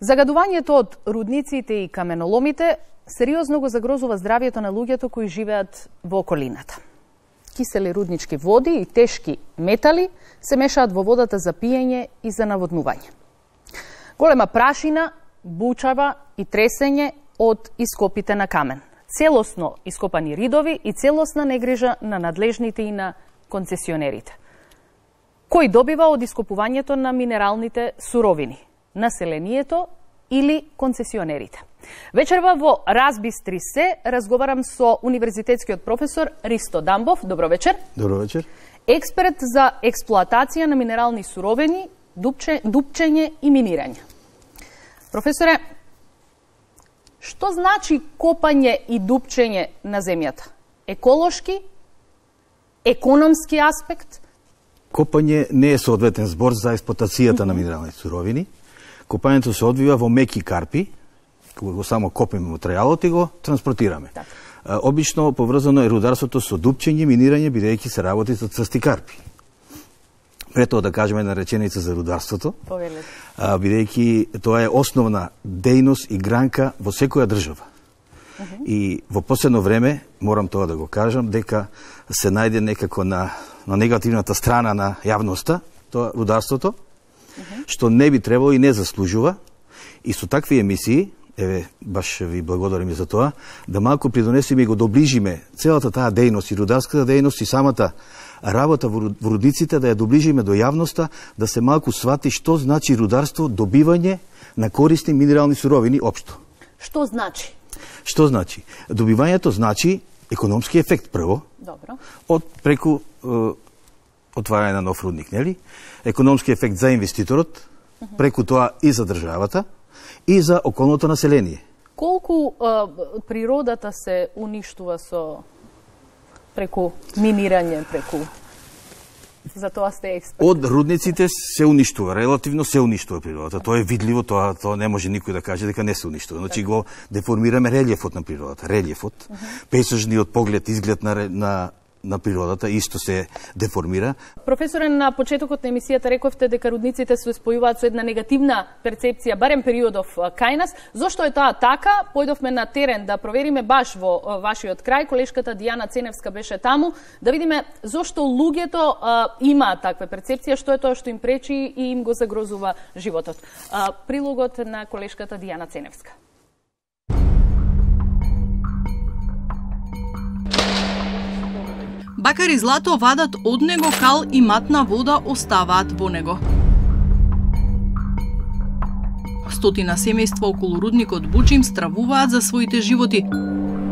Загадувањето од рудниците и каменоломите сериозно го загрозува здравјето на луѓето кои живеат во околината. Кисели руднички води и тешки метали се мешаат во водата за пиење и за наводнување. Голема прашина, бучава и тресење од ископите на камен. Целосно ископани ридови и целосна негрижа на надлежните и на концесионерите. Кој добива од ископувањето на минералните суровини? Населението или концесионерите? Вечерва во Разбистри се разговарам со универзитетскиот професор Ристо Дамбов. Добро вечер. Добро вечер. Експерт за експлоатација на минерални суровини, дупчење и минирање. Професоре, што значи копање и дупчење на земјата? Еколошки, економски аспект? Копање не е соодветен збор за експлоатацијата на минерални суровини. Копањето се одвива во меки карпи, кога го само копиме материјалот и го транспортираме. Обично поврзано е рударството со дупчење, минирање, бидејќи се работи со црсти карпи. Прето да кажеме една реченица за рударството, бидејќи тоа е основна дејност и гранка во секоја држава. И во последно време, морам тоа да го кажам, дека се најде некако на негативната страна на јавноста, тоа рударството, што не би требало и не заслужува, и со такви емисии, еве, баш ви благодарам и за тоа, да малку придонесеме и го доближиме целата таа дејност и рударската дејност и самата работа во рудниците, да ја доближиме до јавноста, да се малку свати што значи рударство, добивање на корисни минерални суровини општо. Што значи? Што значи? Добивањето значи економски ефект прво, Добро. од преку отварање на нов рудник, нели? Економски ефект за инвеститорот, преку тоа и за државата, и за околното население. Колку природата се уништува преку минирање, преку... За тоа сте експерт. Од рудниците се уништува, релативно се уништува природата. Тоа е видливо, тоа не може никој да каже дека не се уништува. Значи го деформираме релјефот на природата. Релјефот, пейзажниот поглед, изглед на природата исто се деформира. Професоре, на почетокот на емисијата рековте дека рудниците се спојуваат со една негативна перцепција, барем периодов кај нас. Зошто е тоа така? Појдовме на терен да провериме баш во вашиот крај. Колешката Дијана Ценевска беше таму, да видиме зошто луѓето имаат таква перцепција, што е тоа што им пречи и им го загрозува животот. Прилогот на колешката Дијана Ценевска. Бакари злато вадат од него, кал и матна вода оставаат во него. Стотина семејства околу рудникот Бучим стравуваат за своите животи.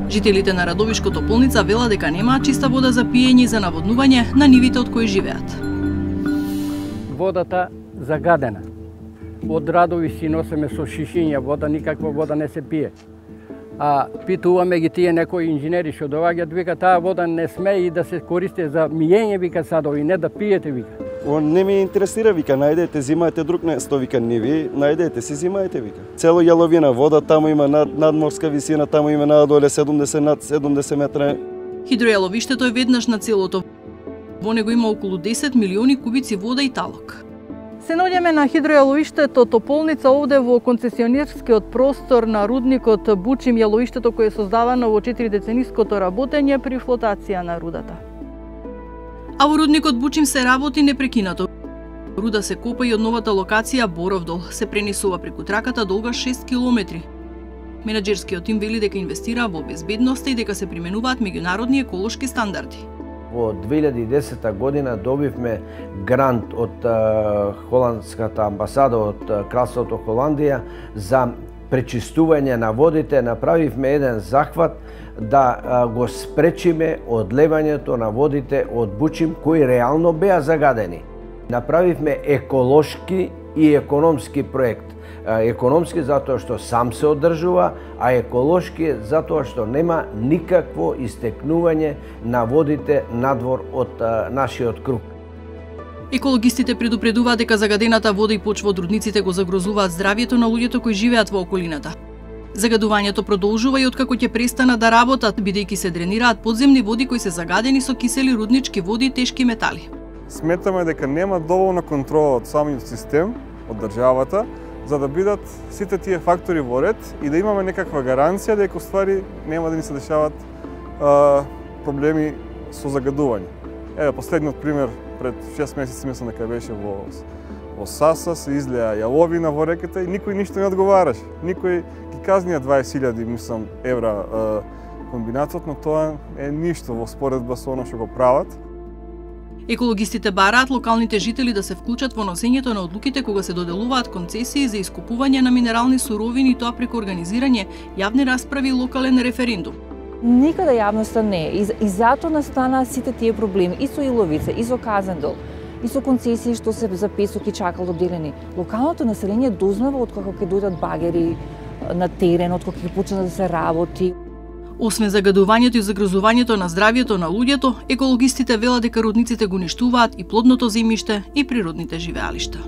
Жителите на Радовишкото Полница велат дека немаат чиста вода за пиење и за наводнување на нивите од кои живеат. Водата загадена. Од Радови си носиме со шишиња вода, никаква вода не се пие. А питуваме ги тие некои инженери што доаѓаат, вика таа вода не сме и да се користи за мијење, вика садови, не да пиете, вика. Не ме интересира, вика, најдете, зимајте друг место, вика, не ви, најдете си, зимајте, вика. Цело јаловина вода, таму има надморска висина, таму има надоле 70 над 70 метра. Хидројаловиштето е веднаш на целото. Во него има околу 10 милиони кубици вода и талок. Се наоѓаме на хидројаловиштето Тополница овде во концесионерскиот простор на рудникот Бучим, јаловиштето кое е создавано во 4-децениското работење при флотација на рудата. А во рудникот Бучим се работи непрекинато. Руда се копа и од новата локација Боровдол, се пренесува преку траката долга 6 километри. Менаџерскиот тим вели дека инвестира во безбедноста и дека се применуваат меѓународни еколошки стандарди. Во 2010 година добивме грант од холандската амбасада, од Кралството Холандија за пречистување на водите. Направивме еден захват да го спречиме одлевањето на водите од Бучим кои реално беа загадени. Направивме еколошки и економски проект. Економски затоа што сам се одржува, а еколошки затоа што нема никакво истекнување на водите надвор од нашиот круг. Екологистите предупредуваат дека загадената вода и почва од рудниците го загрозуваат здравјето на луѓето кои живеат во околината. Загадувањето продолжува и откако ќе престанат да работат, бидејќи се дренираат подземни води кои се загадени со кисели руднички води и тешки метали. Сметаме дека нема доволна контрола од самиот систем, од државата, за да бидат сите тие фактори во ред и да имаме некаква гаранција дека уствари нема да ни се дешават проблеми со загадување. Еве последниот пример пред 6 месеци мислам дека беше во Саса, се излеа јаловина во реката и никој ништо не одговараше. Никој ги казнија 20.000 мислам евра комбинатот, но тоа е ништо во споредба со она што го прават. Екологистите бараат локалните жители да се вклучат во носењето на одлуките кога се доделуваат концесии за искупување на минерални суровини и тоа преку организирање јавни расправи и локален референдум. Никаде јавноста не е и затоа настана сите тие проблеми и со Иловица, и со Казандол, и со концесии што се за песок и чакал доделени. Локалното население дознава откако ќе дојдат багери на терен, откако ќе почне да се работи. Освен загадувањето и загрозувањето на здравјето на луѓето, екологистите велат дека рудниците го уништуваат и плодното земјиште и природните живеалишта.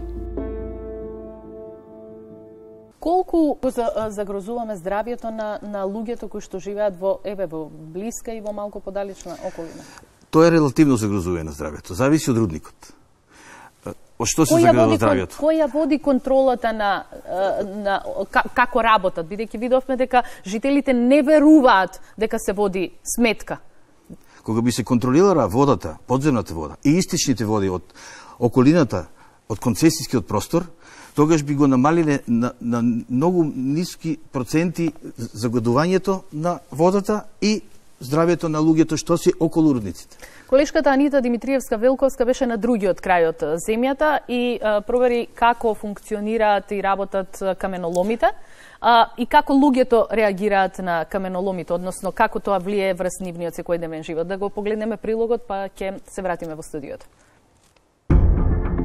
Колку загрозуваме здравјето на луѓето кои што живеат во блиска и во малку подалечна околина? Тоа е релативно загрозување на здравјето, зависи од рудникот. Од што се загрозува здравјето? Која води контролата на како работат, бидејќи видовме дека жителите не веруваат дека се води сметка. Кога би се контролирала водата, подземната вода и истичните води од околината, од концесискиот простор, тогаш би го намалиле на многу ниски проценти загадувањето на водата и здравјето на луѓето што се околу рудниците. Колешката Анита Димитриевска-Велковска беше на другиот крај од земјата и провери како функционираат и работат каменоломите и како луѓето реагираат на каменоломите, односно како тоа влие врз нивниот секојдневен живот. Да го погледнеме прилогот, па ќе се вратиме во студиото.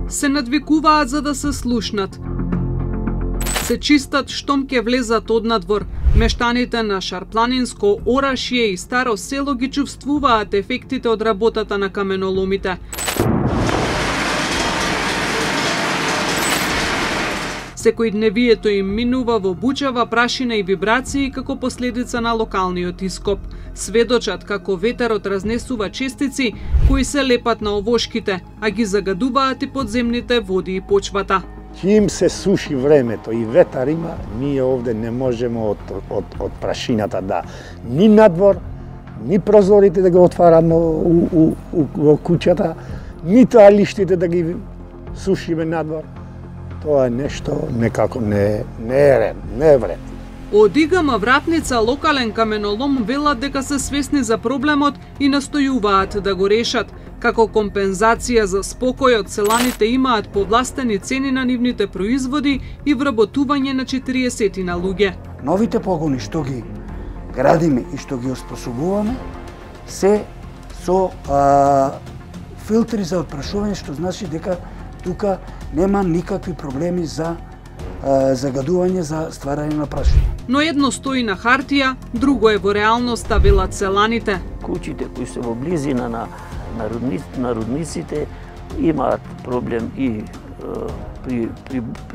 Се надвикуваат за да се слушнат. Се чистат штом ке влезат однадвор. Мештаните на Шарпланинско, Орашје и Старо село ги чувствуваат ефектите од работата на каменоломите. Секојдневието им минува во бучава прашина и вибрации како последица на локалниот ископ. Сведочат како ветерот разнесува честици кои се лепат на овошките, а ги загадуваат и подземните води и почвата. Чим се суши времето и ветар има, ние овде не можеме од прашината да ни надвор, ни прозорите да го отвараме во куќата, ни тоалиштите да ги сушиме надвор. Тоа е нешто некако не е ред, не е вред. Од Игама Вратница локален каменолом велат дека се свесни за проблемот и настојуваат да го решат. Како компензација за спокојот, селаните имаат повластени цени на нивните производи и вработување на 40 на луѓе. Новите погони што ги градиме и што ги оспособуваме се со филтри за отпрашување, што значи дека тука нема никакви проблеми за загадување, за стварање на прашина. Но едно стои на хартија, друго е во реалноста, велат селаните. Куќите кои се во близина на рудниците имаат проблем и при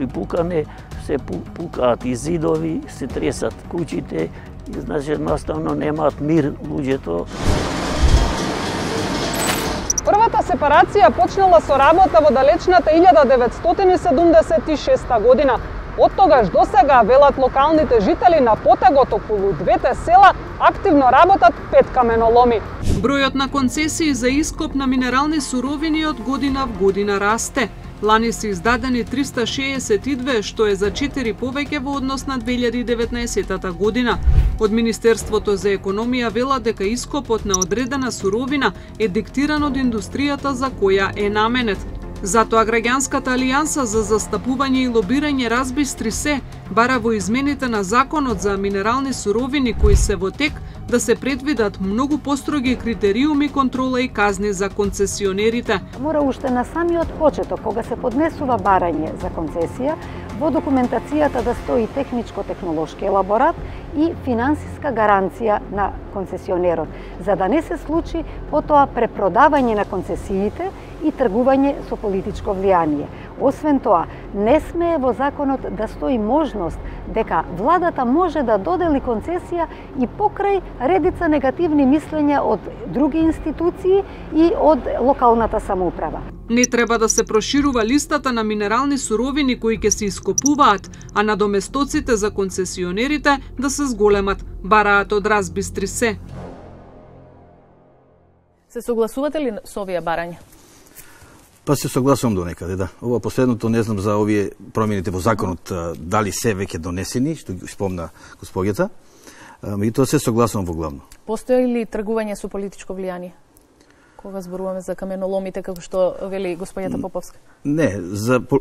пукане, се пукаат и зидови, се тресат куќите, и значи едноставно немаат мир луѓето. Првата сепарација почнала со работа во далечната 1976 година. Од тогаш до сега, велат локалните жители, на потегот околу двете села активно работат 5 каменоломи. Бројот на концесии за ископ на минерални суровини од година в година расте. Лани се издадени 362, што е за 4 повеќе во однос на 2019 година. Од Министерството за економија вела дека ископот на одредена суровина е диктиран од индустријата за која е наменет. Затоа Граѓанската алијанса за застапување и лобирање разбистри се, бара во измените на Законот за минерални суровини кои се во тек, да се предвидат многу построги критериуми, контрола и казни за концесионерите. Мора уште на самиот почеток, кога се поднесува барање за концесија, во документацијата да стои техничко-технолошки елаборат и финансиска гаранција на концесионерот, за да не се случи потоа препродавање на концесиите и тргување со политичко влијание. Освен тоа, не смее во законот да стои можност дека владата може да додели концесија и покрај редица негативни мислења од други институции и од локалната самоуправа. Не треба да се проширува листата на минерални суровини кои ќе се ископуваат, а надоместоците за концесионерите да се зголемат, бараат од Разбистри се. Се согласувате ли со овие барања? Па се согласувам до некаде, да. Ова последното не знам за овие промените во законот, дали се веќе донесени, што ги спомна госпоѓата, меѓутоа се согласувам во главно. Постои ли тргување со политичко влијание? Кога зборуваме за каменоломите, како што вели господјата Поповска? Не,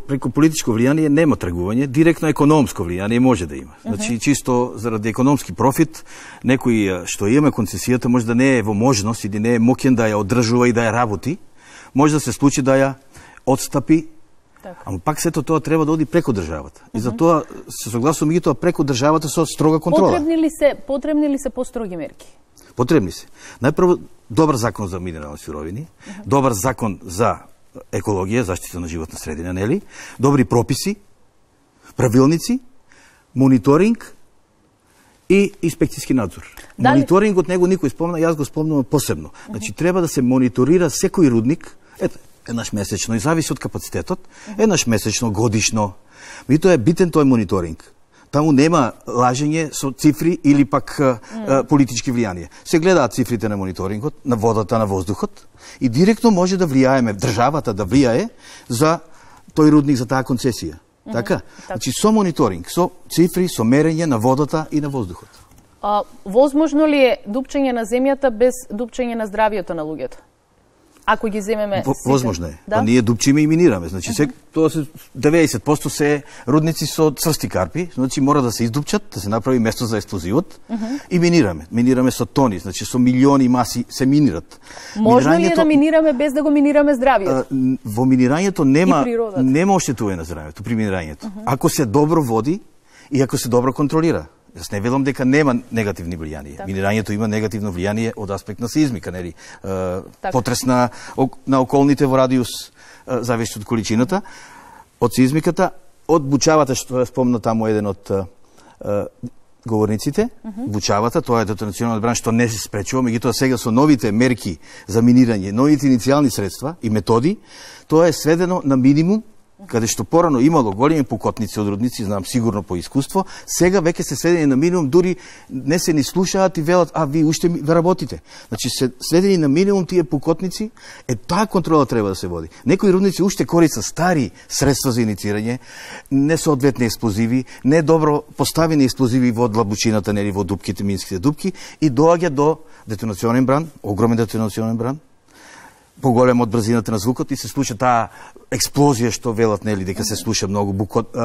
преку политичко влијание нема тргување, директно економско влијание може да има. Значи, чисто заради економски профит, некој што има концесијата може да не е во можност или не е моќен да ја одржува и да ја работи, може да се случи да ја отстапи, ама пак сето тоа треба да оди преку државата. И за тоа се согласувам и тоа преку државата со строга контрола. Потребни ли се построги мерки? Потребни се. Најпрво добар закон за минерални суровини, добар закон за екологија, заштита на животна средина, нели? Добри прописи, правилници, мониторинг и инспекцијски надзор. Мониторингот него никој спомна, јас го спомнувам посебно. Значи треба да се мониторира секој рудник, еднаш месечно, и зависи од капацитетот, еднаш месечно, годишно. И тоа е битен тој мониторинг. Таму нема лажење со цифри или пак политички влијанија. Се гледаат цифрите на мониторингот, на водата, на воздухот и директно може да влијаеме, државата да влијае за тој рудник, за таа концесија. Така? Значи со мониторинг, со цифри, со мерење на водата и на воздухот. Возможно ли е дупчење на земјата без дупчење на здравието на луѓето? Ако ги земеме возможно е. Да? Ние дупчиме и минираме. Значи тоа се 90% се рудници со црсти карпи, значи мора да се издупчат, да се направи место за експлозивот и минираме. Минираме со тони, значи со милиони маси се минират. Можно ли е да минираме без да го минираме здравието? Во минирањето нема оштетување на здравието при минирањето. Ако се добро води и ако се добро контролира. Јас не велам дека нема негативни влијанија. Минирањето има негативно влијание од аспект на сеизмика, нели? Потрес на околните во радиус, зависи од количината, од сеизмиката, од бучавата, што ја спомна таму еден од говорниците, бучавата, тоа е детонационален одбрана што не се спречува, меѓутоа сега со новите мерки за минирање, новите иницијални средства и методи, тоа е сведено на минимум, каде што порано имало големи пукотници од рудници, знам сигурно по искуство, сега веќе се сведени на минимум, дури не се ни слушаат и велат, ви уште работите. Значи се сведени на минимум тие пукотници, таа контрола треба да се води. Некои рудници уште користат стари средства за иницирање, несоодветни експлозиви, недобро поставени експлозиви во длабучината, нели во дупките, минските дупки и доаѓа до детонационен бран, огромен детонационен бран, поголем од брзината на звукот и се случи таа експлозија што велат, нели, дека се слуша многу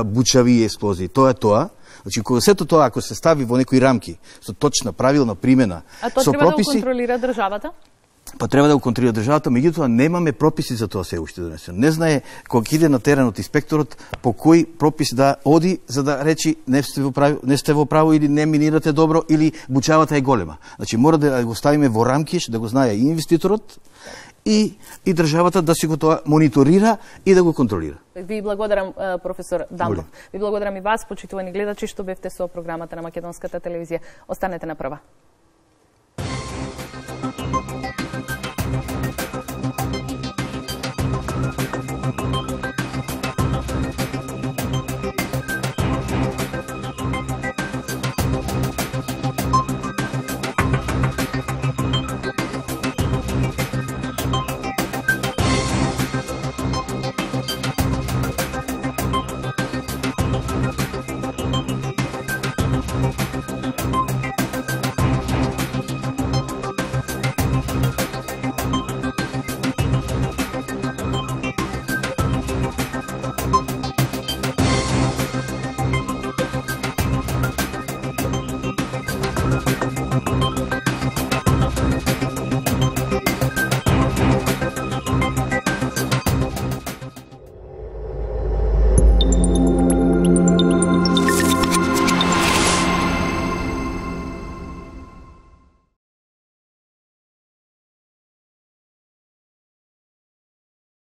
бучави експлозии. Тоа е тоа. Значи, кога сето тоа, ако се стави во некои рамки, со точна, правилна примена, со прописи... А тоа треба да го контролира државата? Па треба да го контролира државата, меѓутоа немаме прописи за тоа се уште донесено. Не знае кога иде на теренот инспекторот по кој пропис да оди за да речи не сте во право или не минирате добро или бучавата е голема. Значи мора да го ставиме во рамки, да го знае и инвеститорот и државата да си го тоа мониторира и да го контролира. Ви благодарам, професор Дамбов. Ви благодарам и вас, почитувани гледачи, што бевте со програмата на Македонската телевизија. Останете на прва.